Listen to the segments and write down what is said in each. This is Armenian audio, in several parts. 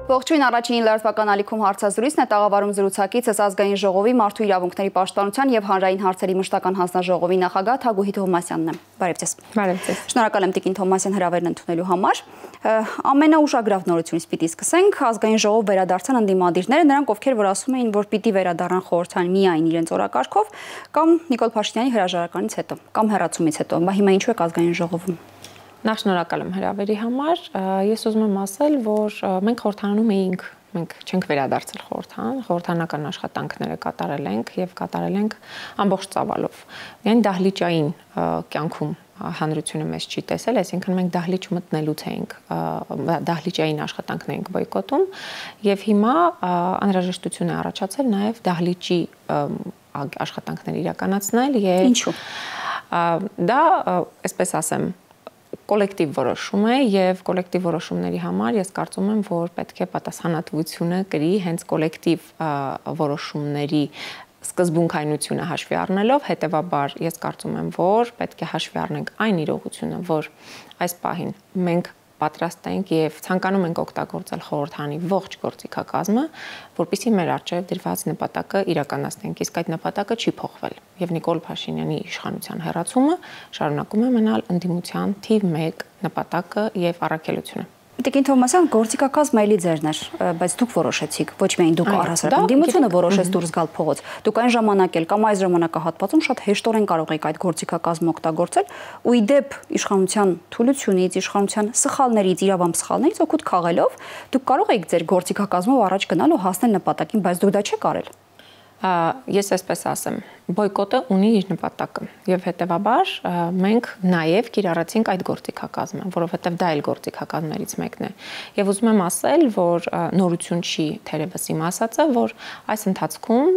Ողջույն, առաջին լրատվական ալիքում հարցազրույցն է, տաղավարում զրուցակիցս ազգային ժողովի մարդու իրավունքների պաշտպանության եւ հանրային հարցերի մշտական հանձնաժողովի նախագահ Թագուհի Թովմասյանն է։ Բարև ձեզ։ Բարև ձեզ։ Շնորհակալ եմ Տիկին Թովմասյան հրավերն ընդունելու համար։ Ամենաուշագրավ նորությունից պիտի սկսենք, ազգային ժողով վերադարձան ընդդիմադիրները, նրանք ովքեր որ ասում էին, որ պիտի վերադառնան խորհրդան միայն իրենց օրակարգով, կամ Նիկոլ Փաշինյանի հրաժարականից հետո, կամ հեռացումից հետո։ Բա հիմա ինչու է ազգային ժողովում։ Նախ շնորհակալ եմ հրավերի համար։ Ես ուզում եմ ասել, որ մենք խորհրդանում էինք, մենք չենք վերադարձել խորհրդան, խորհրդանական աշխատանքները կատարել ենք եւ կատարել ենք ամբողջ ծավալով։ Միայն դահլիճային կյանքում հանրությունը մեզ չի տեսել, այսինքն մենք դահլիճ մտնելուց էինք, դահլիճային աշխատանքն էինք բոյկոտում եւ հիմա անհրաժեշտություն է առաջացել նաեւ դահլիճի աշխատանքներ իրականացնել եւ ինչու։ Դա, այսպես ասեմ, կոլեկտիվ որոշում է եւ կոլեկտիվ որոշումների համար ես կարծում եմ, որ պետք է պատասխանատվությունը կրի հենց կոլեկտիվ որոշումների սկզբունքայնությունը հաշվի առնելով, հետեւաբար ես կարծում եմ, որ պետք է հաշվի առնենք այն իրողությունը, որ այս պահին մենք պատրաստ ենք եւ ցանկանում ենք օգտագործել խորհրդանի ողջ գործիքակազմը, որպեսզի մեր առջեւ դրված նպատակը իրականացնենք, իսկ այդ նպատակը չի փոխվել։ Եվ Նիկոլ Փաշինյանի իշխանության հեռացումը շարունակում է մնալ ընդդիմության թիվ 1 նպատակը եւ առաքելությունը։ Տիկին Թովմասյան, գործիքակազմը էլի ձերն էր, բայց դուք որոշեցիք, ոչ միայն դուք առհասարակ ընդդիմությունը որոշեց դուրս գալ փողոց։ Դուք այն ժամանակ էլ կամ այս ժամանակահատվածում շատ հեշտորեն կարող եք այդ գործիքակազմը օգտագործել ու ի դեպ իշխանության թուլությունից, իշխանության սխալներից, իրավամբ սխալներից օգուտ քաղելով, դուք կարող եք ձեր գործիքակազմով առաջ գնալ ու հասնել նպատակին, բայց դուք դա չեք արել։ Ես այսպես ասեմ, բոյկոտը ունի իր նպատակը եւ հետեւաբար մենք նաեւ կիրառեցինք այդ գործիքակազմը, որովհետեւ դա էլ գործիքակազմներից մեկն է։ Եվ ուզում եմ ասել, որ նորություն չի թերևս իմ ասածը, որ այս ընթացքում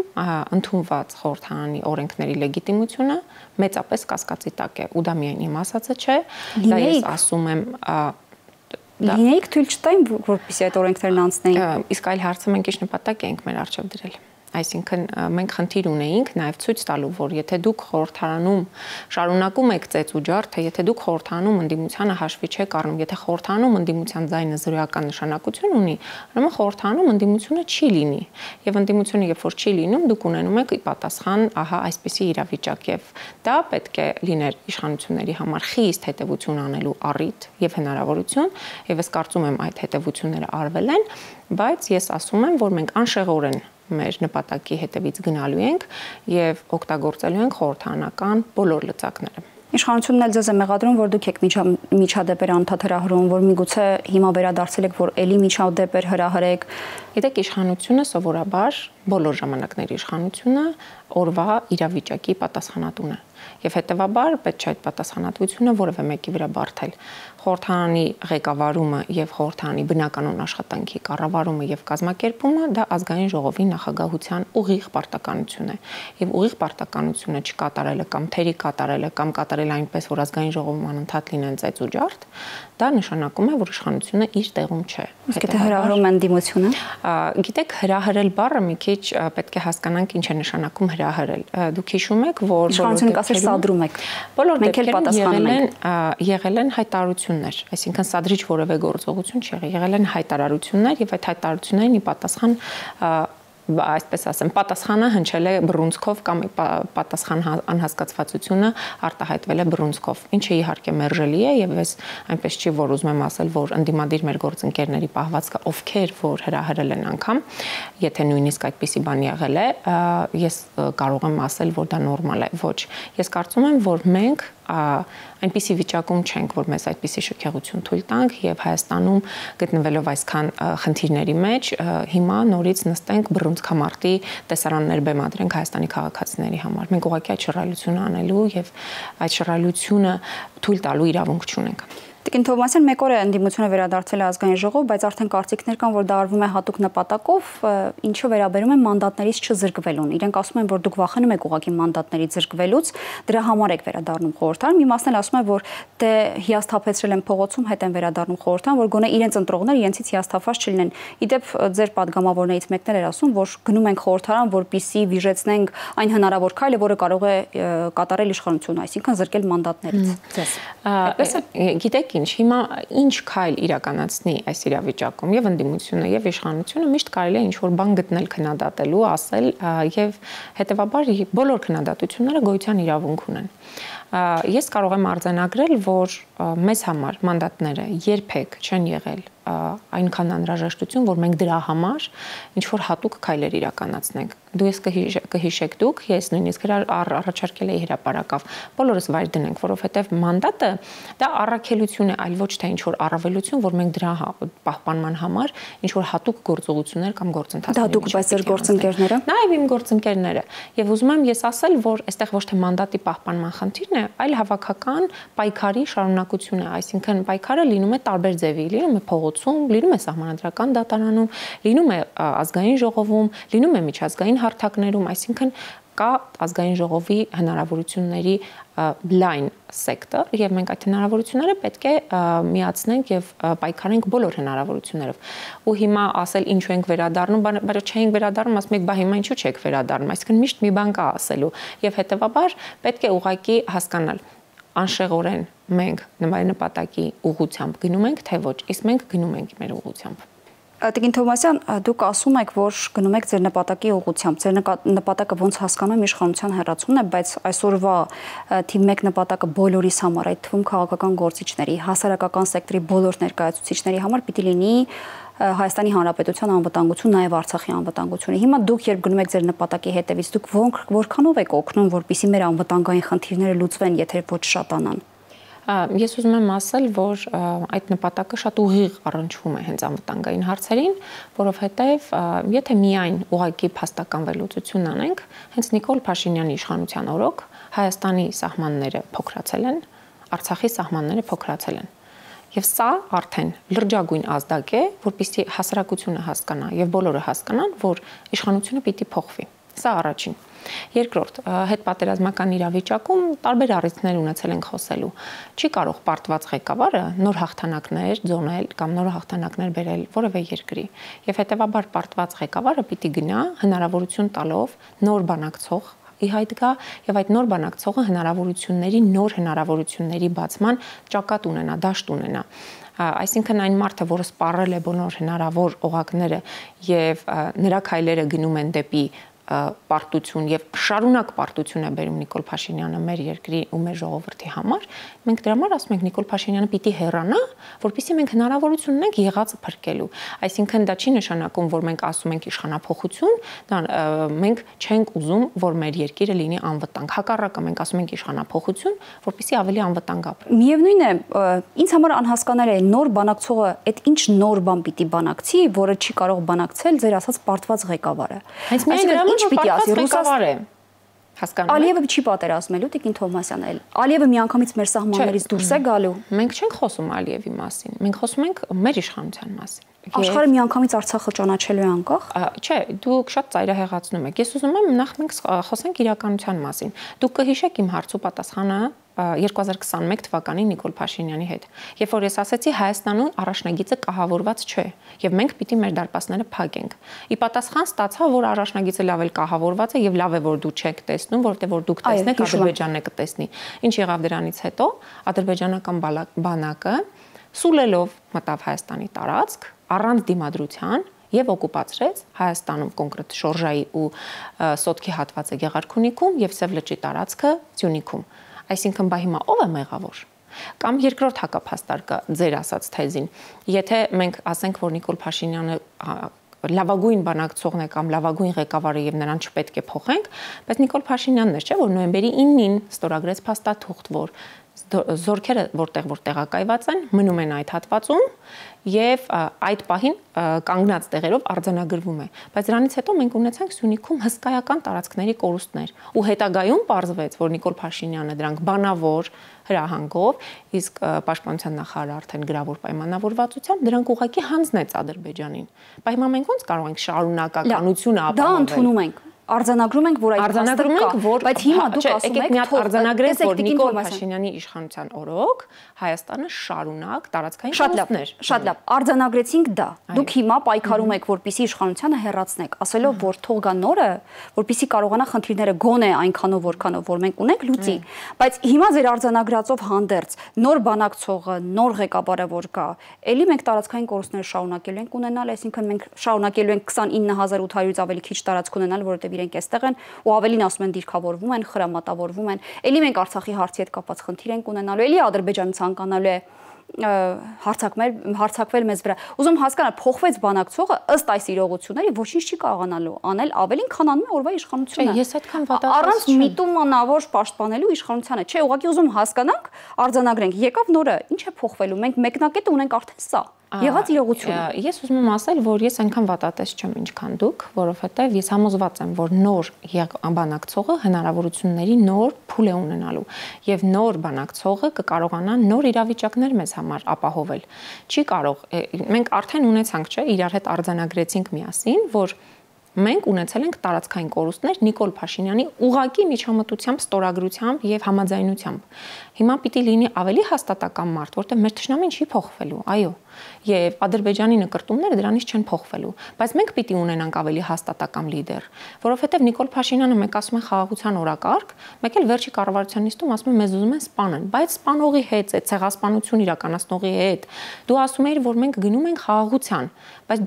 ընդունված խորհրդարանի օրենքների լեգիտիմությունը մեծապես կասկածի տակ է, ու դա միայն իմ ասածը չէ, դա ես ասում եմ Լինեիք թույլ չտային, որպեսզի այդ օրենքներն անցնեին։ Իսկ այլ հարցը մենք ինչ նպատակ ենք մեր առջև դրել։ Այսինքն մենք խնդիր ունեինք նաև ցույց տալու, որ եթե դուք խորհրդարանում շարունակում եք ծեծ ու ջարդը, եթե դուք խորհրդարանում ընդդիմությանը հաշվի չեք առնում, եթե խորհրդարանում ընդդիմության ձայնը զրոյական նշանակություն ունի, ուրեմն խորհրդարանում ընդդիմությունը չի լինի։ Եվ ընդդիմությունը երբ որ չի լինում, դուք ունենում եք ի պատասխան, ահա այսպիսի իրավիճակ եւ դա պետք է լիներ իշխանությունների համար խիստ հետեւություն անելու առիթ եւ հնարավորություն, եւ ես կարծում եմ այդ հետեւությունները արվել են, բայց ես ասում եմ, որ մենք անշեղորեն մեր նպատակի հետևից գնալու ենք եւ օգտագործելու ենք խորհրդարանական բոլոր լծակները։ Իշխանությունն էլ ձեզ է մեղադրում, որ դուք եք միջադեպեր անդադ հրահրում, որ միգուցե հիմա վերադարձել եք, որ էլի միջադեպեր հրահրեք։ Գիտեք, իշխանությունը սովորաբար բոլոր ժամանակների իշխանությունը օրվա իրավիճակի պատասխանատուն է։ Եվ հետեւաբար պետք չէ այդ պատասխանատվությունը որևէ մեկի վրա բարթել։ Խորհրդարանի ղեկավարումը եւ խորհրդարանի բնականոն աշխատանքի կառավարումը եւ կազմակերպումը դա ազգային ժողովի նախագահության ուղիղ պարտականություն է։ Եվ ուղիղ պարտականությունը չկատարելը կամ թերի կատարելը կամ կատարել այնպես, որ ազգային ժողովում անընդհատ լինեն ծեծ ու ջարդ, դա նշանակում է, որ իշխանությունը իր տեղում չէ։ Իսկ եթե հրահրում են ընդդիմությունը։ Գիտեք, հրահրել բառը մի քիչ պետք է հասկանանք ինչ է նշանակում հրահրել։ Դուք հիշում եք, որ իշխանությունը կասեր սադրում եք։ Բոլոր դեպքերում եղել են հայտարարություններ, այսինքն սադրիչ որևէ գործողություն չի եղել, եղել են հայտարարություններ եւ այդ հայտարարություններին ի պատասխան այսպես ասեմ, պատասխանը հնչել է բռունցքով կամ պատասխան անհասկացվածությունը արտահայտվել է բռունցքով, ինչը իհարկե մերժելի է եւ ես այնպես չի, որ ուզում եմ ասել, որ ընդդիմադիր մեր գործընկերների պահվածքը ովքեր որ հրահրել են անգամ, եթե նույնիսկ այդպիսի բան եղել է, ես կարող եմ ասել, որ դա նորմալ է, ոչ։ Ես կարծում եմ, որ մենք այնպիսի վիճակում չենք, որ մեզ այդպիսի շքեղություն թույլ տանք եւ Հայաստանում գտնվելով այսքան խնդիրների մեջ հիմա նորից նստենք բռունցքամարտի տեսարաններ բեմադրենք Հայաստանի քաղաքացիների համար։ Մենք ուղղակի այդ շռայլությունը անելու եւ այդ շռայլությունը թույլ տալու իրավունք չունենք։ Տիկին Թովմասյան, մեկ օր է ընդդիմությունը վերադարձել է ազգային ժողով, բայց արդեն կարծիքներ կան, որ դա արվում է հատուկ նպատակով, ինչը վերաբերում է մանդատներից չզրկվելուն։ Իրենք ասում են, որ դուք վախենում եք ուղղակի մանդատներից զրկվելուց, դրա համար եք վերադառնում խորհրդարան։ Մի մասն էլ ասում է, որ դե հիասթափեցրել են փողոցում, հետ են վերադառնում խորհրդարան, որ գոնե իրենց ընտրողները իրենցից հիասթափված չլինեն։ Իդեպ ձեր падգամավորներից մեկն էր ասում, որ գնում ենք խորհրդարան, որպեսզի վիժեցնենք այն հնարավոր քայլը, որը կարող է կատարել իշխանությունը, այսինքն զրկել մանդատներից։ Ձեզ։ Գիտեք ինչ, հիմա ինչ քայլ իրականացնի այս իրավիճակում եւ ընդդիմությունը եւ իշխանությունը միշտ կարելի է ինչ-որ բան գտնել քննադատելու, ասել եւ հետեւաբար բոլոր քննադատությունները գոյության իրավունք ունեն։ Ես կարող եմ արձանագրել, որ մեզ համար մանդատները երբեք չեն եղել այնքան անհրաժեշտություն, որ մենք դրա համար ինչ-որ հատուկ քայլեր իրականացնենք։ Դու ես կհիշեք դուք, ես նույնիսկ առաջարկել էի հրապարակավ, բոլորս վայր դնենք, որովհետև մանդատը դա առաքելություն է, այլ ոչ թե ինչ-որ առավելություն, որ մենք դրա պահպանման համար ինչ-որ հատուկ գործողություններ կամ գործընթացներ։ Դա դուք բայց ձեր գործընկերները։ Նաև իմ գործընկերները։ Եվ ուզում եմ ես ասել, որ այստեղ ոչ թե մանդատի պահպանման խնդիրն է, այլ հավաքական պայքարի շարունակություն է, այսինքն պայքարը լինում է տարբեր ձևի, լինում է փողոցում, լինում է սահմանադրական դատարանում, լինում է ազգային ժողովում, լինում է միջազգային հարթակներում, այսինքն կա ազգային ժողովի հնարավորությունների լայն սեկտոր եւ մենք այդ հնարավորությունները պետք է միացնենք եւ պայքարենք բոլոր հնարավորություններով։ Ու հիմա ասել ինչու ենք վերադառնում, բայց չենք վերադառնում, ասում եք, բա հիմա ինչու չեք վերադառնում, այսինքն միշտ մի բան կա ասելու եւ հետեւաբար պետք է ուղղակի հասկանալ անշեղորեն մենք նպատակի ուղղությամբ գնում ենք, թե ոչ, իսկ մենք գնում ենք մեր ուղղությամբ։ Տիկին Թովմասյան, դուք ասում եք, որ գնում եք ձեր նպատակի ուղղությամբ։ Ձեր նպատակը ոնց հասկանում եմ իշխանության հեռացումն է, բայց այսօրվա թիվ 1 նպատակը բոլորիս համար, այդ թվում քաղաքական գործիչների, հասարակական սեկտորի բոլոր ներկայացուցիչների համար պիտի լինի Հայաստանի Հանրապետության անվտանգություն, նաև Արցախի անվտանգությունը։ Հիմա դուք երբ գնում եք ձեր նպատակի հետևից, դուք որքանով եք օգնում, որպեսզի մեր անվտանգային խնդիրները լուծվեն, եթե ոչ շատանան։ Ես ուզում եմ ասել, որ այդ նպատակը շատ ուղիղ առնչվում է հենց անվտանգային հարցերին, որովհետև եթե միայն ուղղակի փաստական վերլուծություն անենք, հենց Նիկոլ Փաշինյանի իշխանության օրոք Հայաստանի սահմանները փոքրացել են, Արցախի սահմանները փոքրացել են։ Եվ սա արդեն լրջագույն ազդակ է, որպեսզի հասարակությունը հասկանա եւ բոլորը հասկանան, որ իշխանությունը պիտի փոխվի։ Սա առաջին։ Երկրորդ, հետպատերազմական իրավիճակում տարբեր առիթներ ունեցել ենք խոսելու։ Չի կարող պարտված ղեկավարը նոր հաղթանակներ ձոնել կամ նոր հաղթանակներ բերել որևէ երկրի։ Եվ հետեւաբար պարտված ղեկավարը պիտի գնա հնարավորություն տալով նոր բանակցող ի հայտ գա եւ այդ նոր բանակցողը նոր հնարավորությունների բացման ճակատ ունենա, դաշտ ունենա։ Այսինքն այն մարդը, որը սպառել է բոլոր հնարավոր օղակները եւ նրա քայլերը գնում են դեպի պարտություն եւ շարունակ պարտություն է բերում Նիկոլ Փաշինյանը մեր երկրի ու մեր ժողովրդի համար, մենք դրա համար ասում ենք Նիկոլ Փաշինյանը պիտի հեռանա, որպեսզի մենք հնարավորություն ունենք եղածը փրկելու։ Այսինքն դա չի նշանակում, որ մենք ասում ենք իշխանափոխություն, դա մենք չենք ուզում, որ մեր երկիրը լինի անվտանգ։ Հակառակը մենք ասում ենք իշխանափոխություն, որպեսզի ավելի անվտանգ ապրի։ Միևնույն է, ինձ համար անհասկանալի է նոր բանակցողը այդ ինչ նոր բան պիտի բանակցի, որը չի կարող բանակցել ձեր ասած պարտված ղեկավարը։ Հենց միայն ինչ պիտի ասի ղեկավարը հասկանում եք։ Ալիևը չի պատերազմելու, Տիկին Թովմասյան, Ալիևը միանգամից մեր սահմաններից դուրս է գալու։ Մենք չենք խոսում Ալիևի մասին, մենք խոսում ենք մեր իշխանության մասին։ Աշխարհը միանգամից Արցախը ճանաչելու է անկախ։ Չէ, դուք շատ ծայրահեղացնում եք։ Ես ուզում եմ նախ մենք խոսենք իրականության մասին։ Դուք կհիշեք իմ հարցու պատասխանը 2021 թվականին Նիկոլ Փաշինյանի հետ։ Երբ որ ես ասացի Հայաստանում առաջնագիծը կահավորված չէ, եւ մենք պիտի մեր դարպասները փակենք։ Ի պատասխան ստացա, որ առաջնագիծը լավ էլ կահավորված է եւ լավ է որ դու չեք տեսնում, որովհետեւ որ դուք տեսնեք Ադրբեջանն է կտեսնի։ Ինչ եղավ դրանից հետո ադրբեջանական բանակը սուլելով մտավ Հայաստանի տարածք առանց դիմադրության եւ օկուպացրեց Հայաստանում կոնկրետ Շորժայի ու Սոտքի հատվածը Գեղարքունիքում եւ Սև լճի տարածքը Սյունիքում։ Այսինքն բա հիմա ով է մեղավոր։ Կամ երկրորդ հակափաստարկը ձեր ասած թեզին։ Եթե մենք ասենք, որ Նիկոլ Փաշինյանը լավագույն բանակցողն է կամ լավագույն ղեկավարը եւ նրան չպետք է փոխենք, բայց Նիկոլ Փաշինյանն էր, չէ՞, որ նոյեմբերի 9-ին ստորագրեց փաստաթուղթ, որ զորքերը որտեղ տեղակայված են, մնում են այդ հատվածում եւ այդ պահին կանգնած տեղերով արձանագրվում է։ Բայց դրանից հետո մենք ունեցանք Սյունիքում հսկայական տարածքների կորուստներ ու հետագայում պարզվեց, որ Նիկոլ Փաշինյանը դրանք բանավոր հրահանգով, իսկ պաշտպանության նախարարը արդեն գրավոր պայմանավորվածությամբ դրանք ուղղակի հանձնեց Ադրբեջանին։ Բայց հիմա մենք ոնց կարող ենք շարունակականությունը ապահովել։ Դա ընդունում ենք։ արձանագրում ենք, որ այդ փաստը կա, բայց հիմա դուք ասում եք, մի հատ արձանագրենք, որ Նիկոլ Փաշինյանի իշխանության օրոք Հայաստանը շարունակ տարածքային կորուստներ։ Շատ լավ, արձանագրեցինք դա։ Դուք հիմա պայքարում եք, որպեսզի իշխանությունը հեռացնեք, ասելով, որ թող գա նորը, որպեսզի կարողանա խնդիրները գոնե այնքանով, որքանով որ մենք ունենք, լուծի։ Բայց հիմա ձեր արձանագրածով հանդերձ նոր բանակցողը, նոր ղեկավարը որ կա, ելի մենք տարածքային կորուստները շարունակելու ենք ունենալ, այսինքն մենք շարունակելու ենք 29800-ից ավելի քիչ տարածք ունենալ, որովհետև իրենք այստեղ են ու ավելին ասում են դիրքավորվում են, խրամատավորվում են։ Ելի մենք Արցախի հարցի հետ կապված խնդիր ենք ունենալու, ելի Ադրբեջանը ցանկանալու է հարցակվել մեզ վրա։ Ուզում հասկանալ, փոխվեց բանակցողը ըստ այս իրողությունների ոչինչ չի կարողանալու անել ավելին, քան անում է օրվա իշխանությունը։ Ես այդքան վատացած առանց միտումանավոր պաշտպանելու իշխանությանը։ Չէ, ուղղակի ուզում հասկանանք, արձանագրենք, եկավ նորը, ինչ է փոխվելու։ Մենք մեկնակետը ունենք արդեն սա։ Եղած իրողությունը։ Ես ուզում եմ ասել, որ ես այնքան վատատես չեմ, ինչքան դուք, որովհետև ես համոզված եմ, որ նոր բանակցողը հնարավորությունների նոր փուլ է ունենալու եւ նոր բանակցողը կկարողանա նոր իրավիճակներ մեզ համար ապահովել։ Չի կարող, մենք արդեն ունեցանք, չէ, իրար հետ արձանագրեցինք միասին, որ մենք ունեցել ենք տարածքային կորուստներ Նիկոլ Փաշինյանի ուղղակի միջամտությամբ, ստորագրությամբ եւ համաձայնությամբ։ Հիմա պիտի լինի ավելի հաստատակամ մարդ, որտեղ մեր ճշնամին չի փոխվելու, այո, եւ Ադրբեջանի նկրտումները դրանից չեն փոխվելու, բայց մենք պիտի ունենանք ավելի հաստատակամ լիդեր, որովհետեւ Նիկոլ Փաշինյանը մենք ասում են խաղաղության օրակարգ, մեկ էլ վերջի կառավարության նիստում ասում են մեզ ուզում են սպանել, բայց սպանողի հետ, այդ ցեղասպանություն իրականացնողի հետ դու ասում ես, որ մենք գնում ենք խաղաղության, բայց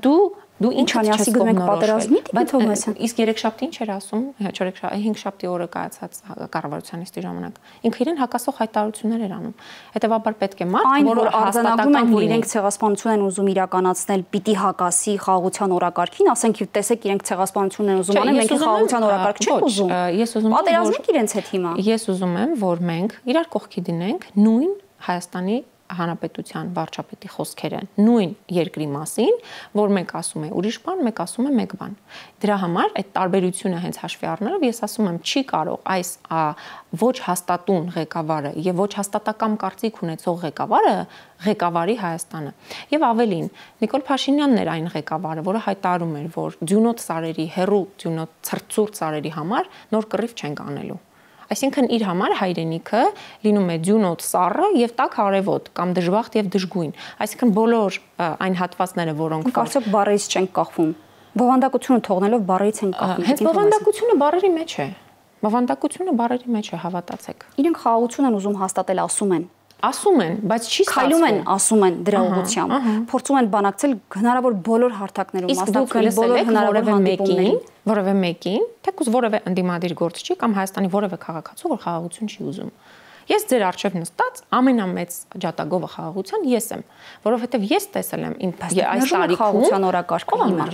դու ինչ անյասի գնում եք պատերազմի դիպլոմասիան։ Իսկ երեքշաբթի ինչ էր ասում, 5-շաբթի օրը կայացած կառավարության նիստի ժամանակ։ Ինքը իրեն հակասող հայտարարություններ էր անում։ Հետևաբար պետք է մարդ, որ արձանագրում են, որ իրենք ցեղասպանություն են ուզում իրականացնել, պիտի հակասի խաղաղության օրակարգին, ասենք տեսեք իրենք ցեղասպանություն են ուզում անել, մենք խաղաղության օրակարգ չենք ուզում։ Ես ուզում եմ պատերազմենք իրենց հետ հիմա։ Ես ուզում եմ, որ մենք իրար կողքի դնենք նույն Հայաստանի Հանրապետության վարչապետի խոսքերը նույն երկրի մասին, որ մենք ասում ենք ուրիշ բան, մենք ասում ենք մեկ բան։ Դրա համար այդ տարբերությունը հենց հաշվի առնելով ես ասում եմ, չի կարող այս ոչ հաստատուն ղեկավարը եւ ոչ հաստատակամ կարծիք ունեցող ղեկավարը ղեկավարի Հայաստանը։ Եվ ավելին, Նիկոլ Փաշինյանն էր այն ղեկավարը, որը հայտարարում էր, որ ձյունոտ սարերի, հերու ձյունոտ ցրծուրտ սարերի համար նոր կռիվ չենք անելու։ Այսինքն իր համար հայրենիքը լինում է ձյունոտ սառը եւ տաք արևոտ կամ դժբախտ եւ դժգույն։ Այսինքն բոլոր այն հատվածները, որոնք կարծեք բառերից չենք կախվում։ Բովանդակությունը թողնելով բառերից են կախվում։ Հենց բովանդակությունը բառերի մեջ է։ Բովանդակությունը բառերի մեջ է, հավատացեք։ Իրենք խաղաղություն են ուզում հաստատել, ասում են, բայց չի ստացվում։ Քայլում են, ասում են դրա ուղղությամբ, փորձում են բանակցել հնարավոր բոլոր հարթակներում, մասնակցել բոլոր հնարավոր հանդիպումներին, որևէ մեկին, թեկուզ որևէ ընդդիմադիր գործչի կամ Հայաստանի որևէ քաղաքացու, որ խաղաղություն չի ուզում։ Ես ձեր առջև նստած ամենամեծ ջատագովը խաղաղության ես եմ, որովհետև ես տեսել եմ այս տարիքում խաղաղության օրակարգը հիմա։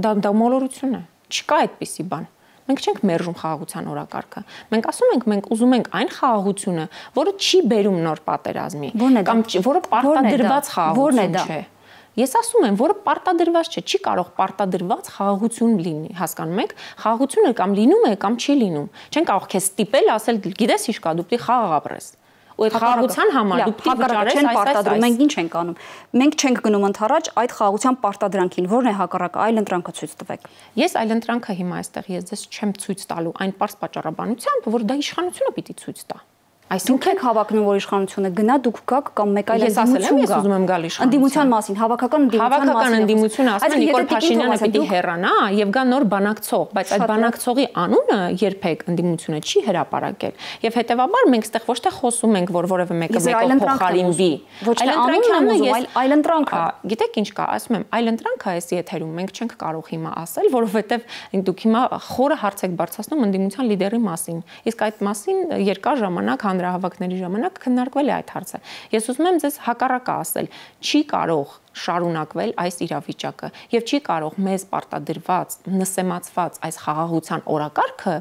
Դա մոլորություն է։ Չկա այդպիսի բան։ Մենք չենք մերժում խաղաղության օրակարգը։ Մենք ասում ենք, մենք ուզում ենք այն խաղաղությունը, որը չի բերում նոր պատերազմի, կամ որը պարտադրված խաղաղություն չէ։ Ես ասում եմ, որը պարտադրված չէ, չի կարող պարտադրված խաղաղություն լինի, հասկանում եք։ Խաղաղությունը կամ լինում է, կամ չի լինում։ Չեն կարող քեզ ստիպել, ասել, գիտես ինչ կա, դու պիտի խաղաղ ապրես։ Ու այդ խաղաղության համար դու պիտի վճարես այս։ Մենք ինչ ենք անում։ Մենք չենք գնում ընդառաջ այդ խաղաղության պարտադրանքին, որն է հակառակը, այլ ընտրանքը ցույց տվեք։ Ես այլ ընտրանքը հիմա այստեղ ես ձեզ չեմ ցույց տալու այն པարզ պատճառաբանությամբ, որ դա իշխանությունը պիտի ցույց տա։ Այսինքն եք հավակնում, որ իշխանությունը գնա, դուք գաք կամ մեկ այլ ընդդիմություն գա։ Ես ուզում եմ գալ իշխանության։ Ընդդիմության մասին, հավաքական ընդդիմությունը ասում է Նիկոլ Փաշինյանը պիտի հեռանա եւ գա նոր բանակցող, բայց այդ բանակցողի անունը երբեք ընդդիմությունը չի հրապարակել։ Եվ հետեւաբար մենք այստեղ ոչ թե խոսում ենք, որ որևէ մեկը մեկը փոխարինվի։ Ոչ թե անունը, այլ ընտրանքը։ Գիտեք ինչ կա, ասում եմ, այլ ընտրանքը այս եթերում մենք չենք կարող հիմա ասել, որովհետեւ դուք հիմա խորը հարց եք բարձրացնում ընդդիմության լիդերի մասին։ Իսկ այդ մասին երկար ժամանակ հանրահավաքների ժամանակ քննարկվել է այդ հարցը։ Ես ուզում եմ ձեզ հակառակը ասել, չի կարող շարունակվել այս իրավիճակը եւ չի կարող մեզ պարտադրված, նսեմացված այս խաղաղության օրակարգը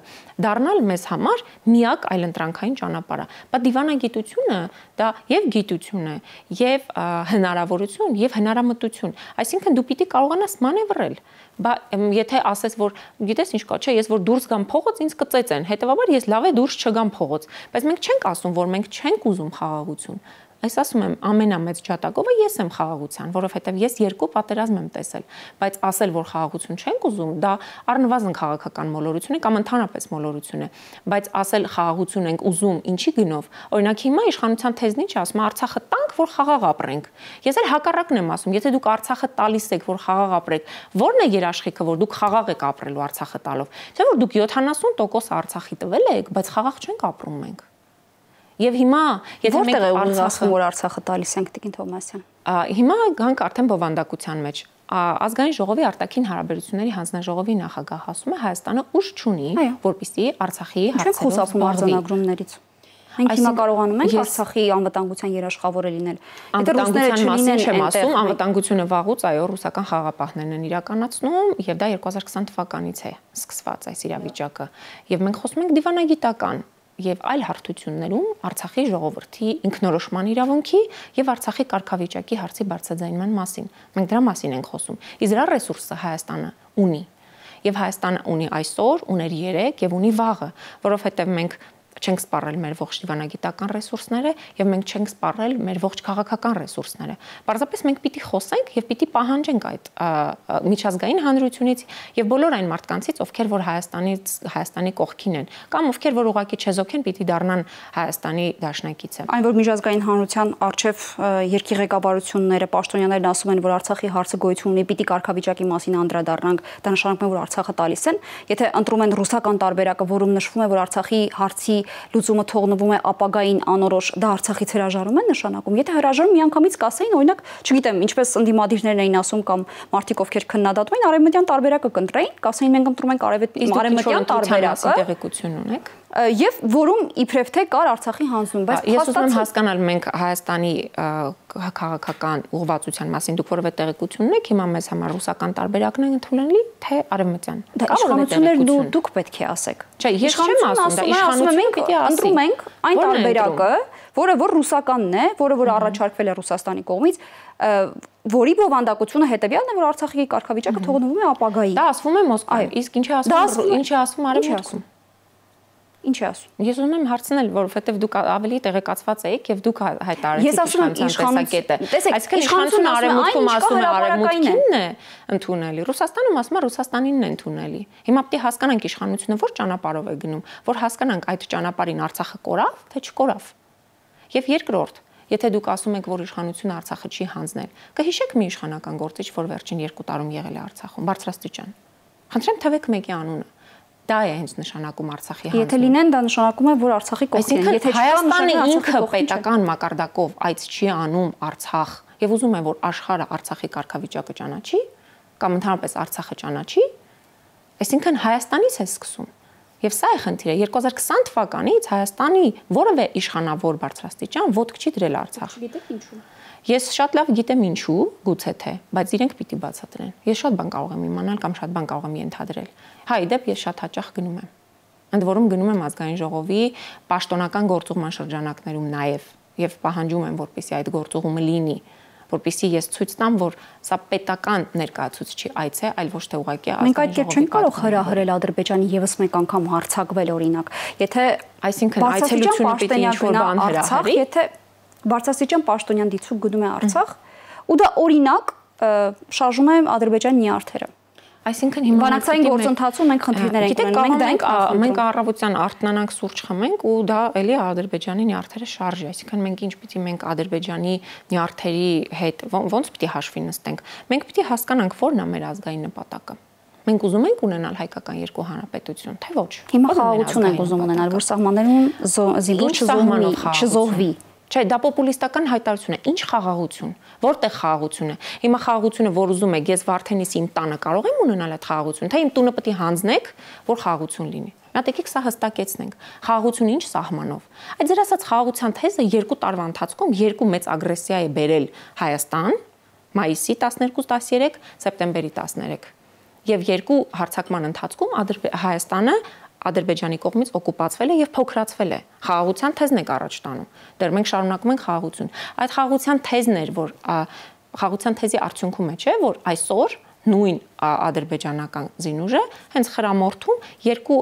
դառնալ մեզ համար միակ այլընտրանքային ճանապարհը։ Բա դիվանագիտությունը դա եւ գիտություն է, եւ հնարավորություն, եւ հնարամտություն։ Այսինքն դու պիտի կարողանաս մանևրել։ Բա եթե ասես, որ գիտես ինչ կա, չէ, ես որ դուրս գամ փողոց, ինձ կծեծեն։ Հետևաբար ես լավ է դուրս չգամ փողոց, բայց մենք չենք ասում, որ մենք չենք ուզում խաղաղություն։ Այս ասում եմ, ամենամեծ ջատագովը ես եմ խաղաղության, որովհետև ես երկու պատերազմ եմ տեսել, բայց ասել, որ խաղաղություն չենք ուզում, դա առնվազն քաղաքական մոլորություն է կամ ընդհանրապես մոլորություն է, բայց ասել խաղաղություն ենք ուզում, ինչի գնով։ Օրինակ հիմա իշխանության թեզն ինչ ասում, Արցախը տանք, որ խաղաղ ապրենք։ Ես էլ հակառակն եմ ասում, եթե դուք Արցախը տալիս եք, որ խաղաղ ապրեք, ո՞րն է երաշխիքը, որ դուք խաղաղ եք ապրելու Արցախը տալով։ Չէ՞ որ դուք 70% Արցախի տվել եք, բայց խաղաղ չենք ապրում մենք։ Եվ հիմա, եթե մենք Արցախը որ Արցախը տալիս ենք, Տիկին Թովմասյան։ Հիմա գանք արդեն բովանդակության մեջ։ Ազգային ժողովի արտաքին հարաբերությունների հանձնաժողովի նախագահ ասում է Հայաստանը ուժ չունի, որպեսզի Արցախի հարցերով խուսափում արձանագրումներից։ Մենք հիմա կարողանում ենք Արցախի անվտանգության երաշխավորը լինել։ Եթե ռուսները չլինեն, չեմ ասում, անվտանգությունը վաղուց այո ռուսական խաղաղապահներն են իրականացնում, եւ դա 2020 թվականից է սկսված այս իրավիճակը։ Եվ մենք խոսում ենք դիվանագիտական եւ այլ հարթություններում Արցախի ժողովրդի ինքնորոշման իրավունքի եւ Արցախի կարգավիճակի հարցի բարձրաձայնման մասին։ Մենք դրա մասին ենք խոսում։ Իսկ դրա ռեսուրսը Հայաստանը ունի։ Եվ Հայաստանը ունի այսօր, ուներ երեկ եւ ունի վաղը, որովհետեւ մենք չենք սպառել մեր ողջ դիվանագիտական ռեսուրսները եւ մենք չենք սպառել մեր ողջ քաղաքական ռեսուրսները։ Պարզապես մենք պիտի խոսենք եւ պիտի պահանջենք այդ միջազգային հանրությունից եւ բոլոր այն մարդկանցից, ովքեր որ Հայաստանի կողքին են կամ ովքեր որ ուղղակի չեզոք են, պիտի դառնան Հայաստանի դաշնակիցը։ Այն որ միջազգային հանրության արչեւ երկի ղեկավարությունները, պաշտոնյաներն ասում են, որ Արցախի հարցը գոյություն ունի, պիտի կարգավիճակի մասին անդրադառնանք, դա նշանակում է, որ Արցախը տալիս են։ Եթե ընտրում են ռուսական տարբերակը, որում նշվում է, որ Արցախի հարցի լուծումը թողնվում է ապագային անորոշ, դա Արցախից հրաժարում են նշանակում։ Եթե հրաժարում միանգամից կասեին, օրինակ, չգիտեմ, ինչպես ընդդիմադիրներն էին ասում կամ մարդիկ ովքեր քննադատում էին, արևմտյան տարբերակը կընտրեին, կասեին մենք ընտրում ենք արևմտյան տարբերակը։ Տեղեկություն ունեք։ Եվ որում իբրև թե կար Արցախի հանձնում, բայց ես ուզում եմ հասկանալ մենք Հայաստանի քաղաքական ուղղվածության մասին դուք որևէ տեղեկություն ունեք, հիմա մեզ համար ռուսական տարբերակն է ընդունելի, թե արևմտյան։ Իշխանություններ դուք պետք է ասեք։ Չէ, ես չեմ ասում, դա իշխանությունը պիտի ասի։ Ընտրում ենք այն տարբերակը, որը որ ռուսականն է, որը որ առաջարկվել է Ռուսաստանի կողմից, որի բովանդակությունը հետեւյալն է, որ Արցախի կարգավիճակը թողնվում է ապագայի։ Դա ասվում է Մոսկվայում, իսկ ինչ է ասվում արևմուտքում։ Ինչ է ասում։ Ես ուզում եմ հարցնել, որովհետև դուք ավելի տեղեկացված եք եւ դուք հայտարարեցիք իշխանության տեսակետը։ Այսինքն իշխանությունը արևմուտքում ասում է արևմուտքինն է ընդունելի, Ռուսաստանում ասում է Ռուսաստանինն է ընդունելի։ Հիմա պետք է հասկանանք իշխանությունը որ ճանապարհով է գնում, որ հասկանանք այդ ճանապարհին Արցախը կորավ, թե չկորավ։ Եվ երկրորդ, եթե դուք ասում եք, որ իշխանությունը Արցախը չի հանձնել, կհիշեք մի իշխանական գործիչ, որ վերջին 2 տարում եղել է Արցախում, բարձրաստիճան։ Խնդրեմ թվեք մեկի անունը։ Դա է հենց նշանակում Արցախի հանձնում։ Եթե լինեն, դա նշանակում է, որ Արցախի կողքին են։ Եթե Հայաստանը ինքը պետական մակարդակով այց չի անում Արցախ եւ ուզում է, որ աշխարհը Արցախի կարգավիճակը ճանաչի կամ ընդհանրապես Արցախը ճանաչի, այսինքն Հայաստանից է սկսում։ Եվ սա է խնդիրը։ 2020 թվականից Հայաստանի որևէ իշխանավոր բարձրաստիճան ոտք չի դրել Արցախ։ Չգիտեք ինչու։ Ես շատ լավ գիտեմ ինչու, գուցե թե, բայց իրենք պիտի բացատրեն։ Ես շատ բան կարող եմ իմանալ կամ շատ բան կարող եմ ենթադրել։ Հա, իդեպ ես շատ հաճախ գնում եմ։ Ընդ որում գնում եմ ազգային ժողովի պաշտոնական գործուղման շրջանակներում նաև պահանջում եմ, որպեսզի այդ գործուղումը լինի, որպեսզի ես ցույց տամ, որ սա պետական ներկայացուցիչի այց է, այլ ոչ թե ուղղակի ազգային ժողովի։ Մենք այդ կերպ չենք կարող հրահրել Ադրբեջանի եւս մեկ անգամ հարձակվել օրինակ։ Եթե այսինքն այցելությունը պիտի ինչ-որ բան հրահրի, եթե բարձրաստիճան պաշտոնյան դիցուկ գնում է Արցախ, ու դա օրինակ շարժում է Ադրբեջանի նյարդերը։ Այսինքն հիմա բանակցային գործընթացում մենք խնդիրներ ենք ունենում, մենք առավոտյան արթնանանք սուրճ խմենք ու դա էլի Ադրբեջանի նյարդերը շարժի, այսինքն մենք ինչ պիտի մենք Ադրբեջանի նյարդերի հետ ոնց պիտի հաշվի նստենք։ Մենք պիտի հասկանանք որն է մեր ազգային նպատակը։ Մենք ուզում ենք ունենալ հայկական երկու հանրապետություն, թե ոչ։ Հիմա խաղաղություն ենք ուզում ունենալ, որ սահմաններում զինվոր չզոհվի։ Չէ, դա պոպուլիստական հայտարարություն է։ Ինչ խաղաղություն։ Որտեղ խաղաղություն է։ Հիմա խաղաղությունը, որ ուզում եք, ես Վարդենիսի իմ տանը կարող եմ ունենալ այդ խաղաղությունը, թե իմ տունը պետք է հանձնեք, որ խաղաղություն լինի։ Մտածեք սա հստակեցնենք։ Խաղաղությունը ինչ սահմանով։ Այդ ձեր ասած խաղաղության թեզը 2 տարվա ընթացքում 2 մեծ ագրեսիա է բերել Հայաստան, մայիսի 12-13, սեպտեմբերի 13։ Եվ 2 հարձակման ընթացքում Հայաստանը Ադրբեջանի կողմից օկուպացվել է եւ փոքրացվել է։ Խաղաղության թեզն է առաջ տանում։ Դեռ մենք շարունակում ենք խաղաղություն։ Այդ խաղաղության թեզն էր, որ խաղաղության թեզի արդյունքում է, չէ, որ այսօր նույն ադրբեջանական զինուժը հենց խրամորթում երկու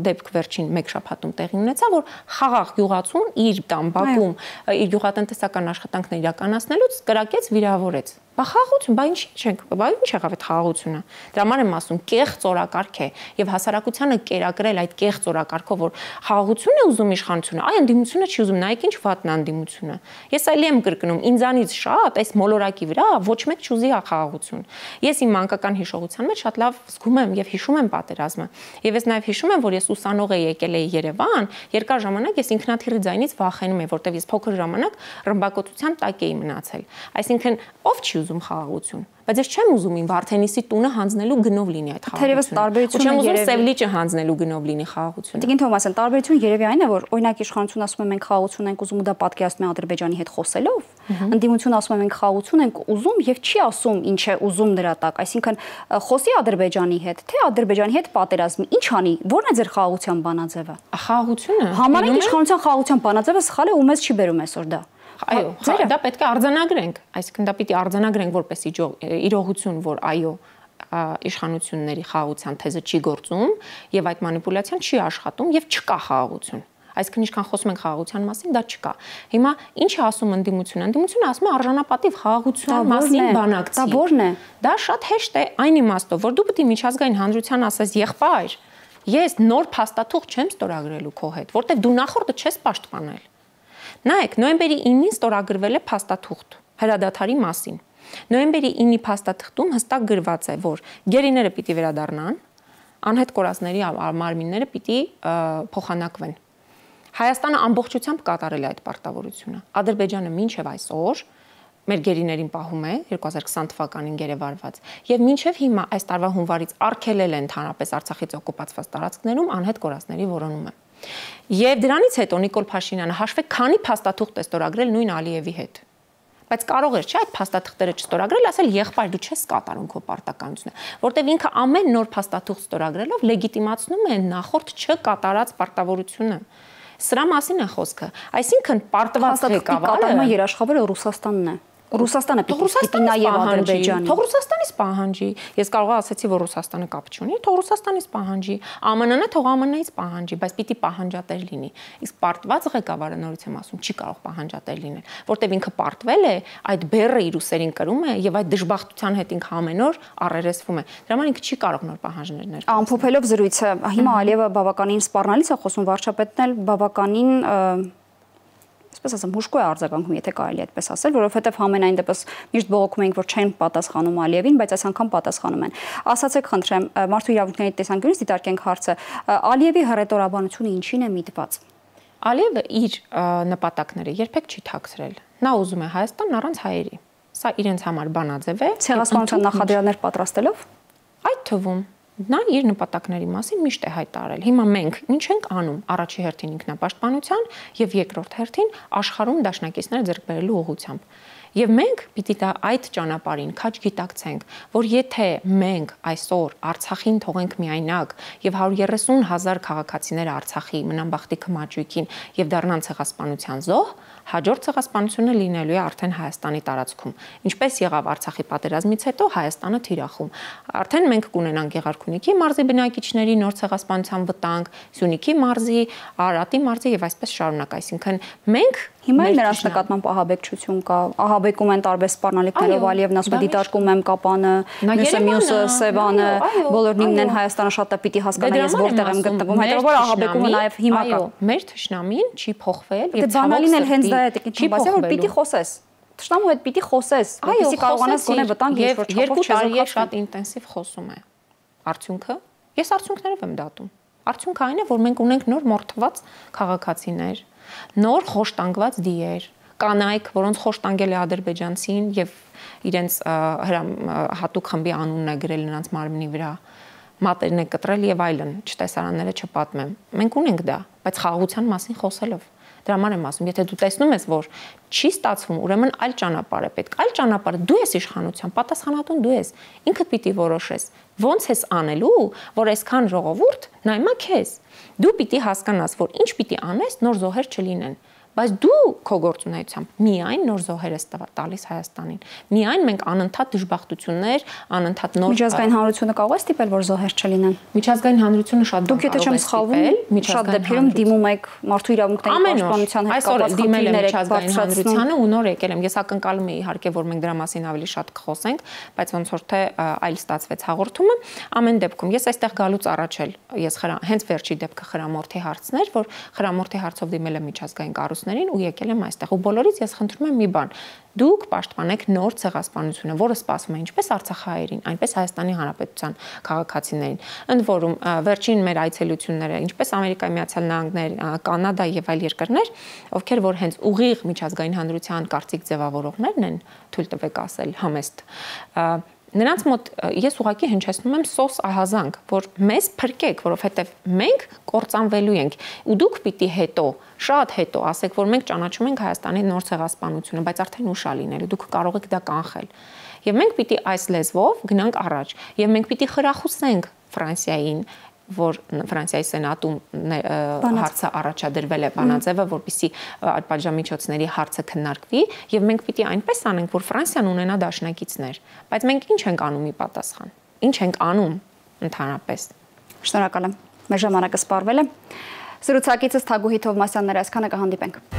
դեպք վերջին մեկ շաբաթում տեղի ունեցավ, որ խաղաղ գյուղացուն իր Բաքվում իր գյուղատնտեսական աշխատանքները իրականացնելուց կրակեց, վիրավորեց։ Բա խաղաղություն, բա ինչ չենք, բա ինչ եղավ այդ խաղաղությունը։ Դրա համար եմ ասում, կեղծ օրակարգ է եւ հասարակությանը կերակրել այդ կեղծ օրակարգով, որ խաղաղություն է ուզում իշխանությունը, այ ընդդիմությունը չի ուզում, նայեք ինչ վատն է ընդդիմությունը։ Ես այլի եմ կրկնում, ինձանից շատ այս մոլորակի վրա ոչ մեկ չուզի խաղաղություն։ Ես իմ մանկական հիշողության մեջ շատ լավ զգում եմ եւ հիշում եմ պատերազմը։ Եվ ես նաեւ հիշում եմ, որ ես ուսանող եկել էի Երևան, երկար ժամանակ ես ինքնաթիռի ձայնից վախենում եմ, որտեվ ես փոքր ժամանակ ռմբակոծության տակ էի մնացել։ Այսինքն ով չի ուզում խաղաղություն, բայց ես չեմ ուզում իմ Վարդենիսի տունը հանձնելու գնով լինի այդ խաղաղությունը։ Թերևս տարբերությունը չեմ ուզում Սևլիճը հանձնելու գնով լինի խաղաղությունը։ Տիկին Թոմասյան, տարբերությունը երևի այն է, որ օրինակ իշխանությունը ասում է մենք խաղաղություն ենք ուզում ու դա պատկերացնում է Ադրբեջանի հետ խոսելով, ընդդիմությունը ասում է մենք խաղաղություն ենք ուզում եւ չի ասում ինչ է ուզում դրա տակ, այսինքն խոսի Ադրբեջանի հետ, թե Ադրբեջանի հետ պատերազմի, ինչ անի, ո՞րն է ձեր խաղաղության բանաձևը։ Խաղաղությունը Համարեք իշխանության խաղաղության բանաձևը սխալ է ու մեզ չի բերում այսօր դա։ Այո, դա պետք է արձանագրենք, այսինքն դա պիտի արձանագրենք որպես իրողություն, որ այո, իշխանությունների խաղաղության թեզը չի գործում եւ այդ մանիպուլյացիան չի աշխատում եւ չկա խաղաղություն։ Այսինքն ինչքան խոսում ենք խաղաղության մասին, դա չկա։ Հիմա ինչ է ասում ընդդիմությունը։ Ընդդիմությունը ասում է արժանապատիվ խաղաղության մասին բանակցի։ Դա ո՞րն է։ Դա շատ հեշտ է այն իմաստով, որ դու պետք է միջազգային հանրության ասես եղբայր, ես նոր փաստաթուղթ չեմ ստորագրելու քո հետ, որտեվ դու նախորդը չես պաշտպանել։ Նայեք, նոյեմբերի 9-ին ստորագրվել է փաստաթուղթ հրադադարի մասին։ Նոյեմբերի 9-ի փաստաթղթում հստակ գրված է, որ գերիները պիտի վերադառնան, անհետ կորածների մարմինները պիտի փոխանակվեն։ Հայաստանը ամբողջությամբ կատարել է այդ պարտավորությունը։ Ադրբեջանը մինչև այսօր մեր գերիներին պահում է 2020 թվականին գերեվարված եւ մինչեւ հիմա այս տարվա հունվարից արգելել է ընդհանրապես Արցախից օկուպացված տարածքներում անհետ կորածների որոնումը։ Եվ դրանից հետո Նիկոլ Փաշինյանը հաշվեք քանի փաստաթուղթ է ստորագրել նույն Ալիևի հետ։ Բայց կարող էր չէ այդ փաստաթղթերը չստորագրել, ասել եղբայր դու չես կատարում քո պարտականությունը, որտեվ ինքը ամեն նոր փաստաթուղթ ստորագրելով լեգիտիմացնում է նախորդ չկատարած պարտավորությունը։ Սրա մասին է խոսքը։ Այսինքն պարտված ղեկավարը կատարումը երաշխավորը Ռուսաստանն է։ Ռուսաստանը պիտի նաև Ադրբեջանի։ Թող Ռուսաստանից պահանջի։ Ես կարող ասացի, որ Ռուսաստանը կապ չունի, թող Ռուսաստանից պահանջի։ ԱՄՆ-ն է, թող ԱՄՆ-ից պահանջի, բայց պիտի պահանջատեր լինի։ Իսկ պարտված ղեկավարը նորից եմ ասում, չի կարող պահանջատեր լինել, որտեվ ինքը պարտվել է, այդ բեռը իր ուսերին կրում է եւ այդ դժբախտության հետ ինքը ամեն օր առերեսվում է։ Դրա համար ինքը չի կարող նոր պահանջներ ներկայացնել։ Ամփոփելով զրույցը, հիմա Ալիևը բավականին սպառնալից է խոսում, վարչապետն էլ բավականին այսպես ասեմ, հուշկու է արձագանքում, եթե կարելի է այդպես ասել, որովհետև ամենայն դեպս միշտ բողոքում ենք, որ չեն պատասխանում Ալիևին, բայց այս անգամ պատասխանում են։ Ասացեք, խնդրեմ, մարդու իրավունքների տեսանկյունից դիտարկենք հարցը, Ալիևի հռետորաբանությունը ինչին է միտված։ Ալիևը իր նպատակները երբեք չի թաքցրել։ Նա ուզում է Հայաստան առանց հայերի։ Սա իրենց համար բանաձև է։ Ցեղասպանության նախադրյալներ պատրաստելով։ Այդ թվում նա իր նպատակների մասին միշտ է հայտարարել։ Հիմա մենք ինչ ենք անում առաջի հերթին ինքնապաշտպանության եւ երկրորդ հերթին աշխարհում դաշնակիցներ ձեռք բերելու ուղղությամբ։ Եվ մենք պիտի դա այդ ճանապարհին քաջ գիտակցենք, որ եթե մենք այսօր Արցախին թողենք միայնակ եւ 130,000 քաղաքացիները Արցախի մնան բախտի քմաճույքին եւ դառնան ցեղասպանության զոհ, հաջորդ ցեղասպանությունը լինելու է արդեն Հայաստանի տարածքում։ Ինչպես եղավ Արցախի պատերազմից հետո Հայաստանը թիրախում։ Արդեն մենք կունենանք Գեղարքունիքի մարզի բնակիչների նոր ցեղասպանության վտանգ, Սյունիքի մարզի, Արարատի մարզի եւ այսպես շարունակ, այսինքն մենք հիմա նրանց նկատմամբ ահաբեկչություն կա, ահաբեկում են տարբեր սպառնալիքներով, Ալիևն ասում է դիտարկում եմ Կապանը, մյուսը Սևանը, բոլորն իմն են Հայաստանը շատ է պիտի հասկանա ես որտեղ եմ գտնվում, հետո ահաբեկումը նաեւ հիմա կա։ Մեր թշնամին չի փոխվել եւ բանալին էլ հենց դա է տիկին Թոմասյան, որ պիտի խոսես։ Թշնամու հետ պիտի խոսես, որպեսզի կարողանաս գոնե վտանգ ինչ որ չափով չեզոքացնել։ Շատ ինտենսիվ խոսում է։ Արդյունքը ես արդյունքներով եմ դատում։ Արդյունքը այն է, որ մենք ունենք նոր մորթված քաղաքացիներ, նոր խոշտանգված դիեր, կանայք, որոնց խոշտանգել է ադրբեջանցին եւ իրենց հատուկ խմբի անունն է գրել նրանց մարմնի վրա, մատերն է կտրել եւ այլն, չտեսարանները չպատմեմ։ Մենք ունենք դա, բայց խաղաղության մասին խոսելով դրա համար եմ ասում, եթե դու տեսնում ես, որ չի ստացվում, ուրեմն այլ ճանապարհ է պետք։ Այլ ճանապարհը դու ես իշխանության, պատասխանատուն դու ես։ Ինքդ պիտի որոշես։ Ոնց ես անելու, որ այսքան ժողովուրդ նայմա քեզ։ Դու պիտի հասկանաս, որ ինչ պիտի անես, նոր զոհեր չլինեն։ բայց դու քո գործունեությամբ միայն նոր զոհեր ես տալիս Հայաստանին։ Միայն մենք անընդհատ դժբախտություններ, անընդհատ նոր միջազգային հանրությունը կարող է ստիպել, որ զոհեր չլինեն։ Միջազգային հանրությունը շատ դուք եթե չեմ սխալվում, շատ դեպքերում դիմում եք մարդու իրավունքների պաշտպանության հետ կապված խնդիրներ եք բարձրացնում ու նոր եկել եմ։ Ես ակնկալում եի իհարկե, որ մենք դրա մասին ավելի շատ կխոսենք, բայց ոնց որ թե այլ ստացվեց հաղորդումը։ Ամեն դեպքում ես այստեղ գալուց առաջ էլ ես հենց վերջի դեպքը խրամորթի հարցն էր, որ խրամորթի հարցով դիմել եմ միջազգային կառույցներին ու եկել եմ այստեղ։ Ու բոլորից ես խնդրում եմ մի բան. դուք պաշտպանեք նոր ցեղասպանությունը, որը սպասվում է ինչպես արցախահայերին, այնպես Հայաստանի Հանրապետության քաղաքացիներին։ Ընդ որում, վերջին մեր այցելությունները, ինչպես Ամերիկայի Միացյալ Նահանգներ, Կանադա եւ այլ երկրներ, ովքեր որ հենց ուղիղ միջազգային հանրության կարծիք ձևավորողներն են, թույլ տվեք ասել, համեստ, նրանց մոտ ես ուղղակի հնչեցնում եմ սոս ահազանգ, որ մեզ փրկեք, որովհետև մենք կործանվելու ենք ու դուք պիտի հետո, շատ հետո ասեք, որ մենք ճանաչում ենք Հայաստանի նոր ցեղասպանությունը, բայց արդեն ուշ է լինելու, դուք կարող եք դա կանխել։ Եվ մենք պիտի այս լեզվով գնանք առաջ, եւ մենք պիտի խրախուսենք Ֆրանսիային, որ Ֆրանսիայի սենատում հարցը առաջադրվել է բանաձևը, որպեսզի պատժամիջոցների հարցը քննարկվի, եւ մենք պիտի այնպես անենք, որ Ֆրանսիան ունենա դաշնակիցներ, բայց մենք ինչ ենք անում ի պատասխան։ Ինչ ենք անում ընդհանրապես։ Շնորհակալ եմ։ Մեր ժամանակը սպառվել է։ Զրուցակիցս Թագուհի Թովմասյանն էր, այսքանը կհանդիպենք։